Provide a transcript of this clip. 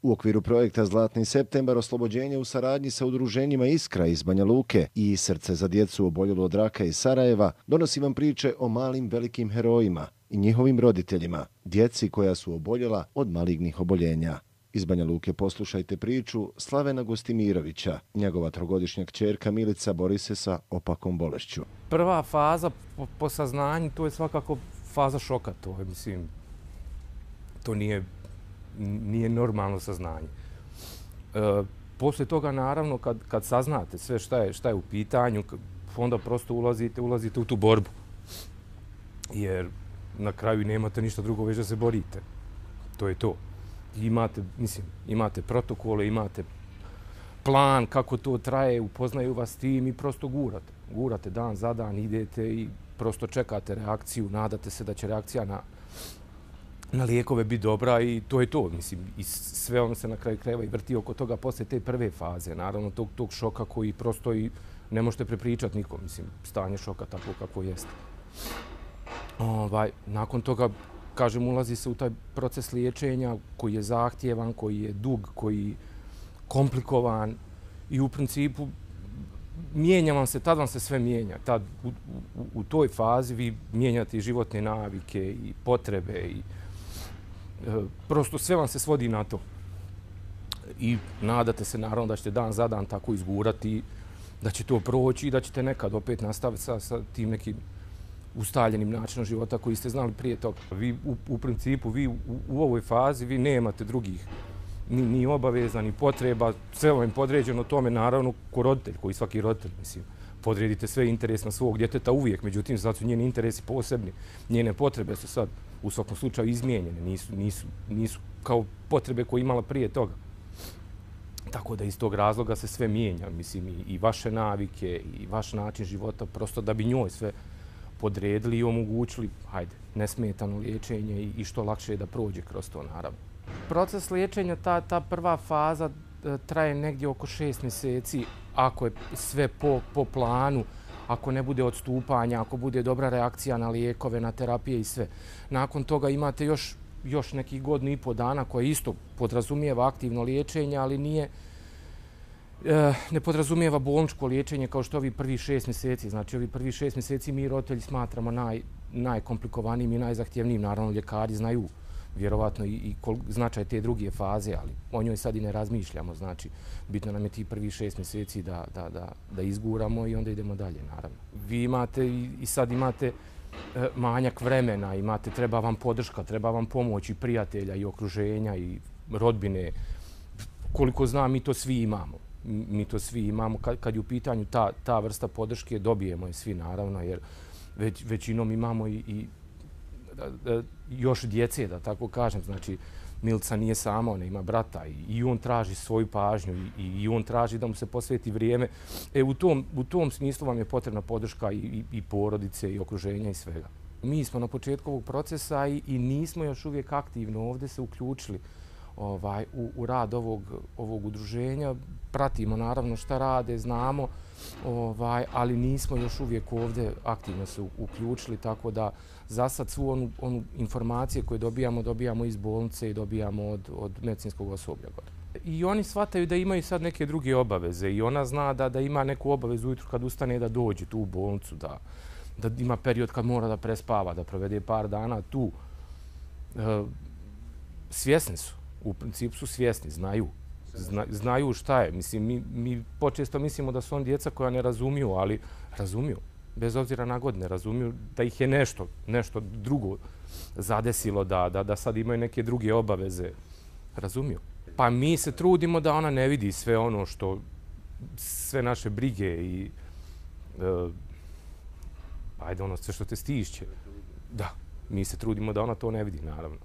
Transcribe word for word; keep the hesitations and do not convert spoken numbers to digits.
U okviru projekta Zlatni septembar oslobođenje u saradnji sa udruženjima Iskra iz Banja Luke i Srce za djecu oboljelu od raka iz Sarajeva donosi vam priče o malim velikim herojima i njihovim roditeljima, djeci koja su oboljela od malignih oboljenja. Iz Banja Luke poslušajte priču Slavena Gostimirovića. Njegova trogodišnja kćerka Milica bori se sa opakom bolešću. Prva faza po, po saznanju, to je svakako faza šoka. To je, mislim, to nije, nije normalno saznanje. E, poslije toga, naravno, kad, kad saznate sve šta je, šta je u pitanju, onda prosto ulazite, ulazite u tu borbu. Jer na kraju nemate ništa drugo, već da se borite. To je to. Imate, mislim, imate protokole, imate plan kako to traje, upoznaju vas tim i prosto gurate. Gurate dan za dan, idete i prosto čekate reakciju, nadate se da će reakcija na, na lijekove biti dobra i to je to. Mislim, i sve ono se na kraju krajeva i vrti oko toga poslije te prve faze, naravno tog, tog šoka koji prosto i ne možete prepričati nikom, mislim, stanje šoka tako kako jeste. Ovaj, nakon toga, kažem, ulazi se u taj proces liječenja koji je zahtjevan, koji je dug, koji je komplikovan i u principu mijenja vam se, tad vam se sve mijenja. Tad u, u, u toj fazi vi mijenjate i životne navike i potrebe i e, prosto sve vam se svodi na to. I nadate se naravno da ćete dan za dan tako izgurati, da će to proći i da ćete nekad opet nastaviti sa, sa tim nekim ustaljenim načinom života koji ste znali prije toga. Vi u, u principu, vi u, u ovoj fazi vi nemate drugih ni, ni obaveza, ni potreba, sve vam je podređeno tome, naravno, ko roditelj, koji svaki roditelj, mislim, podredite sve interes na svog djeteta uvijek, međutim, sad su njeni interesi posebni, njene potrebe su sad u svakom slučaju izmijenjene, nisu, nisu, nisu kao potrebe koje imala prije toga. Tako da iz tog razloga se sve mijenja, mislim, i, i vaše navike, i vaš način života, prosto da bi njoj sve podredili i omogućili, hajde, nesmetano liječenje i, i što lakše da prođe kroz to, naravno. Proces liječenja, ta, ta prva faza traje negdje oko šest mjeseci, ako je sve po, po planu, ako ne bude odstupanja, ako bude dobra reakcija na lijekove, na terapije i sve. Nakon toga imate još, još nekih godinu i po dana koje isto podrazumijeva aktivno liječenje, ali nije, ne podrazumijeva bolničko liječenje kao što ovi prvi šest mjeseci. Znači, ovi prvi šest mjeseci mi roditelji smatramo naj, najkomplikovanijim i najzahtjevnijim. Naravno, ljekari znaju vjerovatno i, i kol, značaj te druge faze, ali o njoj sad i ne razmišljamo. Znači, bitno nam je ti prvi šest mjeseci da, da, da, da izguramo i onda idemo dalje, naravno. Vi imate i, i sad imate e, manjak vremena, imate, treba vam podrška, treba vam pomoć i prijatelja i okruženja i rodbine. Koliko znam, mi to svi imamo. Mi to svi imamo. Kad, kad je u pitanju ta, ta vrsta podrške, dobijemo je svi, naravno, jer već, većinom imamo i, i da, da, još djece, da tako kažem. Znači, Milica nije sama, ona ima brata i, i on traži svoju pažnju i, i on traži da mu se posveti vrijeme. E, u tom, u tom smislu vam je potrebna podrška i, i, i porodice i okruženja i svega. Mi smo na početku ovog procesa i, i nismo još uvijek aktivno ovdje se uključili ovaj, u, u rad ovog, ovog udruženja. Pratimo naravno šta rade, znamo, ovaj, ali nismo još uvijek ovdje aktivno se uključili, tako da za sad svu onu, onu informacije koje dobijamo, dobijamo iz bolnice i dobijamo od, od medicinskog osoblja. I oni shvataju da imaju sad neke druge obaveze i ona zna da, da ima neku obavezu ujutru kad ustane da dođe tu u bolnicu, da, da ima period kad mora da prespava, da provede par dana tu. E, svjesni su, u principu su svjesni, znaju. Zna, znaju šta je. Mislim, mi, mi počesto mislimo da su on djeca koja ne razumiju, ali razumiju. Bez obzira na godine, razumiju da ih je nešto, nešto drugo zadesilo, da, da, da sad imaju neke druge obaveze. Razumiju. Pa mi se trudimo da ona ne vidi sve ono što, sve naše brige i uh, ajde ono sve što te stišće. Da, mi se trudimo da ona to ne vidi, naravno.